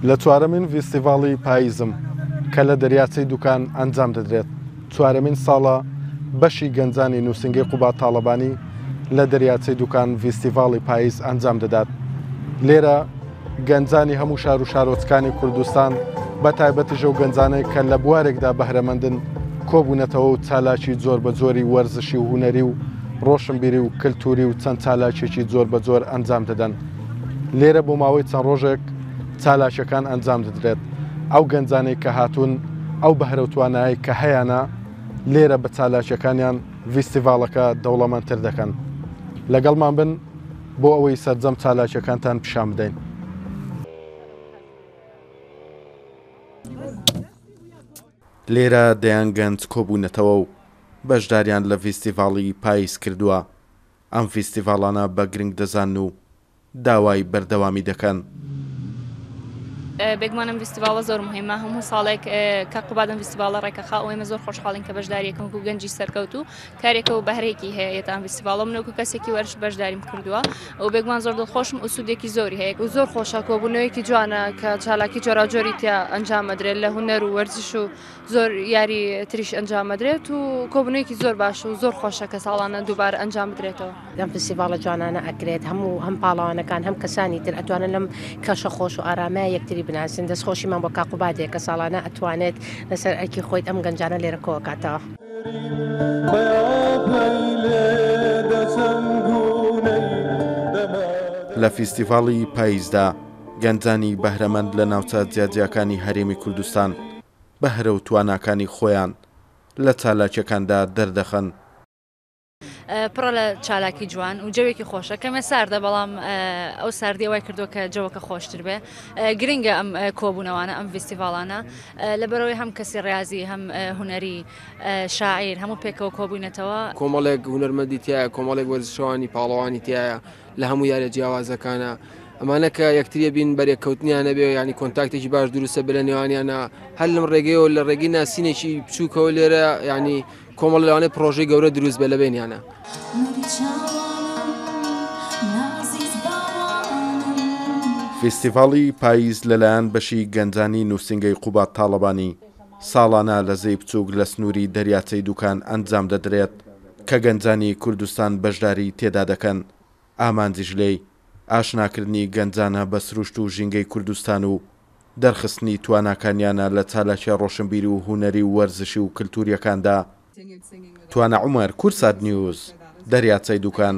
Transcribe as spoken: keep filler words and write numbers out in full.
لە چوارەمین ڤیستیڤاڵی پاییزم کە لە دەریاچەی دوکان ئەنجام دەدرێت، چوارەمین ساڵە بەشی گەنجانی نووسنگەی قوباد تاڵەبانی لە دەریاچەی دوکان ڤیستیڤاڵی پاییز ئەنجام دەدات. لێرە گەنجانی هەموو شار و شارۆچکانی کوردستان بە تایبەتیش ئەو گەنجانەی کە لە بوارێکدا بەهرەمەندن کۆبوونەتەوە و چالاکی جۆر بە جۆری وەرزشی و هونەری و ڕۆشنبیری و کلتوری و چەند چالاکیێکی جۆر بە جۆر ئەنجام دەدەن. لێرە بۆ ماوەی چەند ڕۆژێک چالاکیەکان ئەنجام دەدرێت. ئەو گەنجانەی کە هاتوون ئەو بەهرە و توانایی کە هەیانە لێرە بە چالاکیەکانیان ڤیستیڤاڵەکە دەوڵەمەندتر دەکەن. لەگەڵمان بن بۆ ئەوەی سەرجەم چالاکیەکانتان پیشان بدەین. لێرە دەیان گەنج کۆبوونەتەوە و بەشداریان لە ڤیستیڤاڵی پاییز کردووە. ئەم ڤیستیڤاڵانە بە گرنگ دەزانن و داوای بەردەوامی دەکەن. بێگومان ئەم ڤیستیڤاڵە زۆر مهمە، هەموو ساڵێک کە قوباد ئەم ڤیستیڤاڵە ڕێکەخا و ئێمە زۆر خۆشحاڵین کە بەشداریەکەم وەکو گەنجی سەرکەوتوو کارێکە و بەهرێکی هەیە ئێتا ئەم ڤیستیڤاڵە. من وەکو کەسێکی وەرش بەشداریم کردووە و بێگومان زۆر دڵخۆشم و سوودێکی زۆری هەیە. و زۆر خۆشە کۆبوونەوەیەکی جوانە کە چالاکی جۆراوجۆری تیا ئەنجام ئەدرێت لە هونەر و وەرزش و زۆر یاری تریش ئەنجام ئەدرێت و کۆبوونەوەیەکی زۆر باش و زۆر خۆشە کە ساڵانە دووبارە ئەنجام بدرێتەوە. لەم فستیڤاڵە جوانانە ئەکرێت هەموو هەم پاڵەوانەکان هەم کەسانی تر ئەتوانن لەم کەشە خۆش و ئارامە یەکتری بناسن. دەستخۆشیمان بۆ کاقوبادێک کە ساڵانە ئەتوانێت لەسەر ئەرکی خۆیت ئەم گەنجانە لێرە کۆکاتەوە. لە فیستیڤاڵی پاییزدا گەنجانی بەهرەمەند لە ناوچە جیاجیاکانی هەرێمی کوردستان بەهرە و تواناکانی خۆیان لە چالاکیەکاندا دەردەخەن. پڕە لە چالاکی جوان و جەوێکی خۆشە، کەمێ ساردە بەڵام ئەو ساردی وای کردووە کە جەوەکە خۆشتر بێ. گرنگە ئەم کۆبوونەوانە، ئەم ڤیستیڤاڵانە، لەبەرەوەی هەم کەسی ڕاضی هەم هونەری شاعیر هەموو پێکەوە کۆبووینەتەوە. کۆمەڵێک هونەرمەندی تایە، کۆمەڵێک وەرزشەوانی پاڵەوانی تایە لە هەموو یاریە جیاوازەکانە. ئەمانە کە یەکتریە بین بەرێککەوتنیان نەبێ، ینی کۆنتاکتێکی باش دروستە بێ لە نێوانیانە، هەر لەم ڕێگەیەوە لە ڕێگەی ناسینێکی بچووکەوە لێرە ینی کۆمەڵ لەوانەیە پرۆژەی گەورە دروست بێ لە بینیانە. فستیڤاڵی پاییز لەلایەن بەشی گەنجانی نووسنگەی قوباد تاڵەبانی ساڵانە لە زێی بچووک لە سنووری دەریاچەی دوکان ئەنجام دەدرێت کە گەنجانی کوردستان بەشداری تێدا دەکەن. ئامانجیش لێی ئاشناکردنی گەنجانە بە سروشت و ژینگەی کوردستان و دەرخستنی تواناکانیانە لە چالاکیە ڕۆشنبیری و هونەری و وەرزشی و کلتوریەکاندا. توانا عومەر، کوردسات نیوز، دەریاچەی دوکان.